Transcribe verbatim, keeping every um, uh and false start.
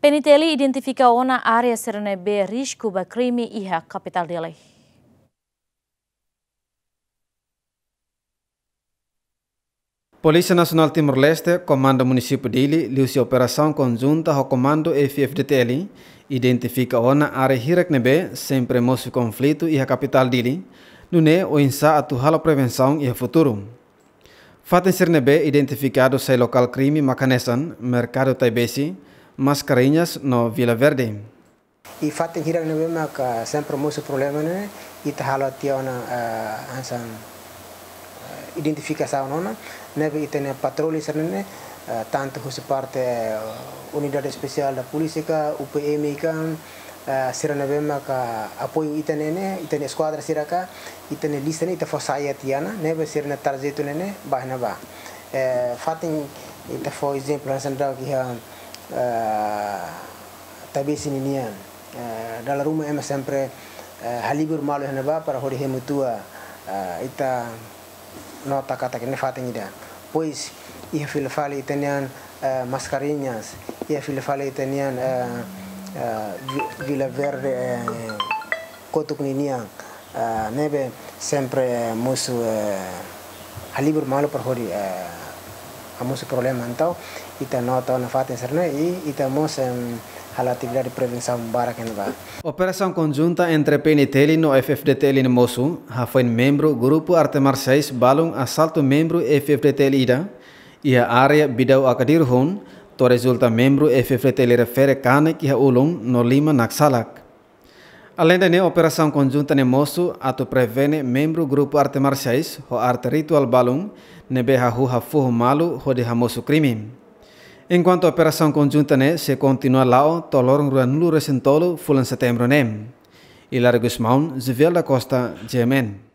PNTL identifika ona área sira ne'ebé risku ba krime iha kapitál Dili. Polísia Nasionál Timor-Leste, Komandu Munisípiu Dili, liuhusi operasaun konjunta ho Komandu F-FDTL, identifika ona área hirak ne'ebé sempre mosu konflitu iha kapitál Dili, nune'e oinsá atu halo prevensaun iha futuru. Fatin sira ne'ebé identifikadu sai lokál krime mak hanesan Merkadu Taibesi, Mascarenhas no Vila Verde. I fatin hirak ne'ebé maka sempre mosu problema ne'e, ita halo tiha ona, eh, hanesan, eh, identifikasaun ona, ne'ebé ita-nia patroli sira ne'e, eh, tantu husi parte, eh, Unidade Espesiál da Polísia ka, U P M ka, eh, sira ne'ebé maka apoiu ita-nia ne'e, ita-nia eskuadra sira ka, ita-nia lista ne'e, ita fó sai tiha ona, ne'ebé sira-nia trajetu ne'e, ne'e, ba iha ne'ebá. Eh, fatin ita fó ezemplu, hanesan daudauk iha, eh, Taibesi ninian. Eh, dala ruma ema sempre, eh, halibur malu iha ne'ebá para hodi hemu tua, eh, ita nota katak ne'e fatin ida. Depois, iha fila fali ita-nian, eh, Mascarenhas, iha fila fali ita-nian, eh, eh, Vi-, Vila Verde, eh, kotuk ninian, eh, ne'ebé sempre mosu, eh, halibur malu para hodi, eh, hamosu problema. Entaun, ita nota ona fatin sira ne'e, i ita mós, em, halo atividade prevensaun barak iha ne'ebá. Operasaun konjunta entre PNTL no F-FDTL ne'e mosu, hafoin membru grupu arte marsiais balun asaltu membru F-FDTL ida, iha área Bidau Akadir hun, to'o rezulta membru F-FDTL refere kanek iha ulun no liman naksalak. Aleinde ne'e, operasaun konjunta ne'e mosu atu prevene membru grupu arte marsiais ho arte rituál balun ne'ebé hahú hafoho malu hodi hamosu krime. Enkuantu operasaun konjunta ne'e sei kontinua la'o to'o loron ruanulu-resin-tolu fulan Setembru ne'e. Hilário Gusmão, Juviel da Costa, G M N.